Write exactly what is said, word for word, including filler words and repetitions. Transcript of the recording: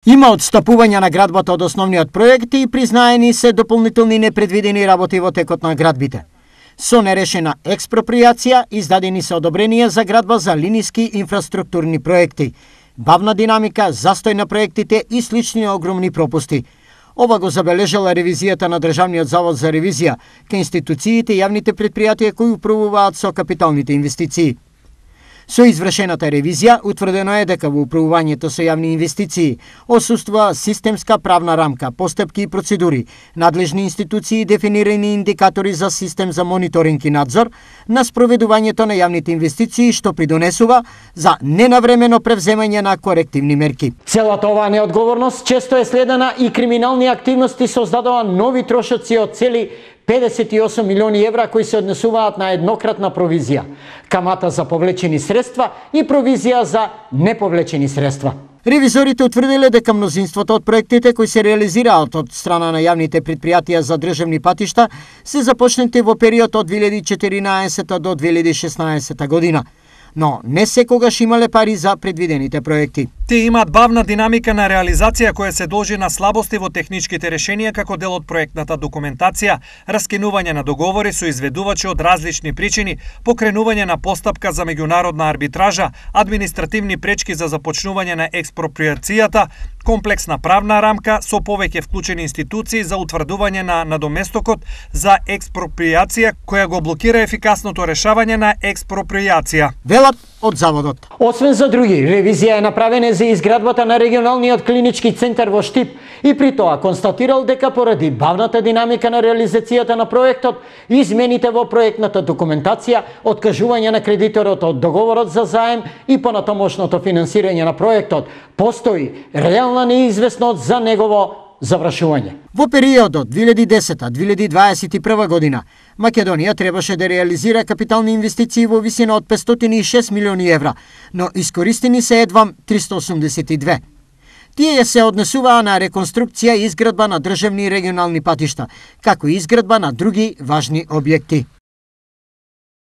Има отстапување на градбата од основниот проект и признаени се дополнителни непредвидени работи во текот на градбите. Со нерешена експроприација издадени се одобренија за градба за линиски инфраструктурни проекти, бавна динамика, застој на проектите и слични огромни пропусти. Ова го забележала ревизијата на Државниот завод за ревизија кај институциите и јавните предпријатија кои управуваат со капиталните инвестиции. Со извршената ревизија утврдено е дека во управувањето со јавни инвестиции отсуствува системска правна рамка, постапки и процедури, надлежни институции и дефинирани индикатори за систем за мониторинг и надзор на спроведувањето на јавните инвестиции, што придонесува за ненавремено превземање на корективни мерки. Целата оваа неодговорност често е следена и криминални активности создадува нови трошоци од цели педесет и осум милиони евра кои се однесуваат на еднократна провизија, камата за повлечени средства и провизија за неповлечени средства. Ревизорите утврдиле дека мнозинството од проектите кои се реализираат од страна на јавните предпријатија за државни патишта се започнати во период од две илјади и четиринаесета до две илјади и шеснаесета година, но не секогаш имале пари за предвидените проекти. Тие имаат бавна динамика на реализација која се должи на слабости во техничките решенија како дел од проектната документација, раскинување на договори со изведувачи од различни причини, покренување на постапка за меѓународна арбитража, административни пречки за започнување на експроприацијата, комплексна правна рамка со повеќе вклучени институции за утврдување на надоместокот за експроприација која го блокира ефикасното решавање на експроприација. Велат од заводот. Освен за други, ревизија е направена за изградбата на регионалниот клинички центар во Штип и при тоа констатирал дека поради бавната динамика на реализацијата на проектот, измените во проектната документација, откажување на кредиторот од договорот за заем и понатомошното финансирање на проектот, постои реална неизвестност за негово завршување. Во периодот две илјади и десета до две илјади дваесет и прва година, Македонија требаше да реализира капитални инвестиции во висина од петстотини и шест милиони евра, но искористени се едвам триста осумдесет и две. Тие се однесуваа на реконструкција и изградба на државни и регионални патишта, како и изградба на други важни објекти.